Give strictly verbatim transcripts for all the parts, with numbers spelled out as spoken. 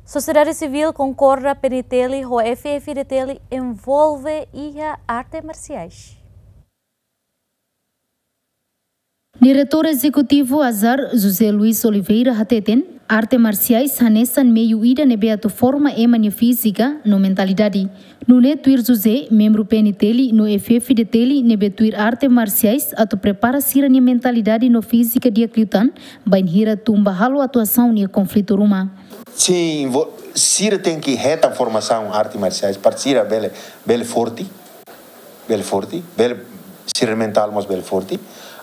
Sosiedade sivíl konkorda P N T L ho F F D T L envolve iha arte marsiais. Diretór Ezekutivu ASAR, José Luis Oliveira, hateten, arte marsiais hanesan meiu ida ne'ebé atu forma ema nia fízika no mentalidade. Nune'e tuir José, membru P N T L no F F D T L ne'ebé tuir arte marsiais atu prepara sira-nia mentalidade no fízika di'ak liután, bainhira tun ba halo atuasaun iha konflitu ruma. Sin, vo-, sira tenke hetan formasaun arte marsiais, para sira bele, bele forte, bele forte, bele, sira mentál mós bele forte.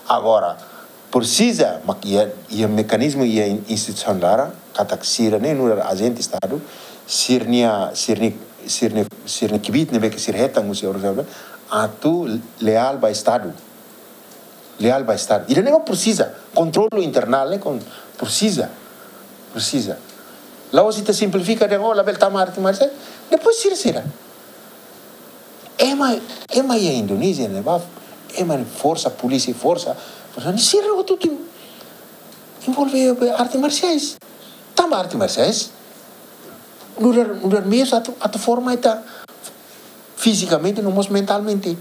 Agora, presiza, mak iha, iha mekanizmu, iha in-, instituisaun laran, katak sira ne'e nu'udar ajente Estadu, sira-nia, sira-nia, sira-nia, sira-nia kbiit ne'ebé ke sira hetan husi organizasaun, atu leál ba Estadu. Leál ba Estadu. Ida-ne'e presiza, kontrolu internál ne'e kon-, presiza, presiza. La'ós ita simplifika dehan, oh, labele tama arte marsiais. Depois sira, sira. Ema, ema iha Indonézia ne'ebá, ema forsa, polísia forsa, forsa, sira hotu-hotu envolve arte marsiais. Tama arte marsiais. Nu'udar, nu'udar meius atu, atu forma ita fizikamente no mós mentalmente.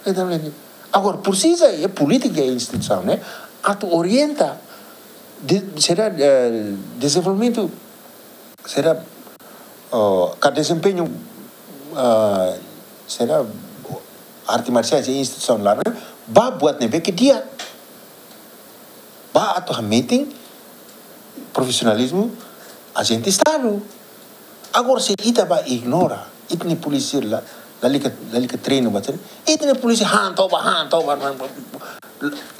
Mentalmente. Agora, presiza, é polítika, é instituisaun, ne'e atu orienta, de, sira, eh, dezenvolvimentu, sira, oh, ka dezempeñu, ah, sira, arte marsiais, é instituisaun laran, ba buat ne'ebé ke di'ak. Ba atu hametin profisionalizmu ajente Estadu. Agora, se ita ba ignora, ita-nia polísia la, lalika, lalika treinu ba treinu, ita-nia polísia han toba, han toba,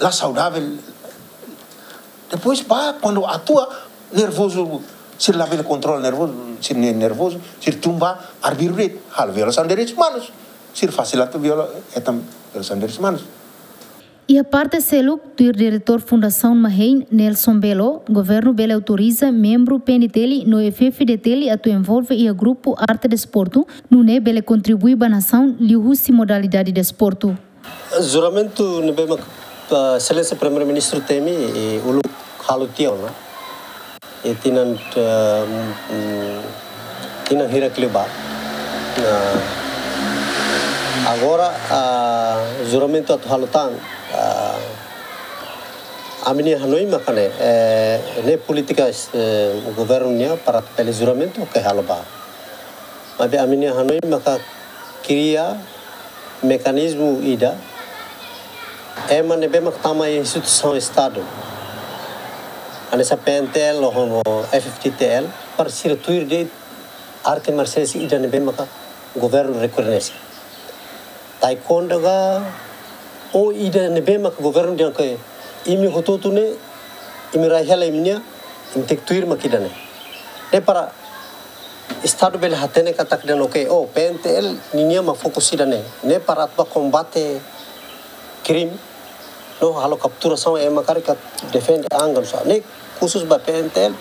la saudavel. Depois ba, kuandu atua, nervozu, sira labele kontrola nervozu, sira ne-, nervozu, sira tun ba arbiru de'it, halo violasaun direitus umanus, sira fasil atu viola, hetan violasaun direitus umanus. Iha parte seluk, tuir Diretór Fundasaun MAHEIN, Nelson Belo, governu bele autoriza membru P N T L no F F D T L atu envolve iha grupu arte desportu, nune'e bele kontribui ba nasaun liuhusi modalidade desportu. Juramentu ne'ebé mak, ah, Exelénsia Primeiru-Ministru temi, i uluk halo tiha ona. I tinan, eh, mm, tinan hirak liubá. Nah, agora, ah, juramentu atu halo tan, ah, ami-nia hanoin maka ne'e, eh, ne'e polítika, eh, governu nian para bele juramentu ke halo ba. Maibé ami-nia hanoin maka kria mekanizmu ida, ema ne'ebé mak tama iha instituisaun Estadu, hanesan P N T L ho F F D T L, para sira tuir de'it arte marsiais ida ne'ebé maka governu rekoñese. Taekwondo ka, ou ida ne'ebé maka governu dehan ke imi hotu-hotu ne'e, imi rai hela imi-nia, imi tenke tuir mak ida-ne'e. Ne'e para Estadu bele hatene katak dehan, oke, oh, P N T L ninia mak fokus ida-ne'e. Ne'e para atu ba kombate krime, no halo kapturasaun ema karik atu defende an ka nusá. Ne'e khusus ba P N T L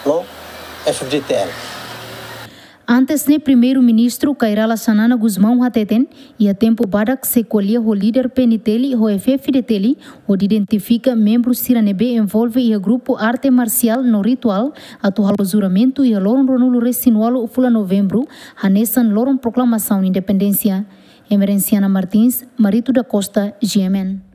no F F D T L. Antes ne'e, Primeiru-Ministru Kay Rala Xanana Gusmão hateten, iha tempu badak sei ko'alia ho líder P N T L ho F F D T L, hodi identifika membru sira ne'ebé envolve iha grupu arte marsiál no rituál, atu halo juramentu iha loron ruanulu-resin-ualu fulan Novembru, hanesan loron proklamasaun independénsia. Emerenciana Martins, Marito da Costa, G M N.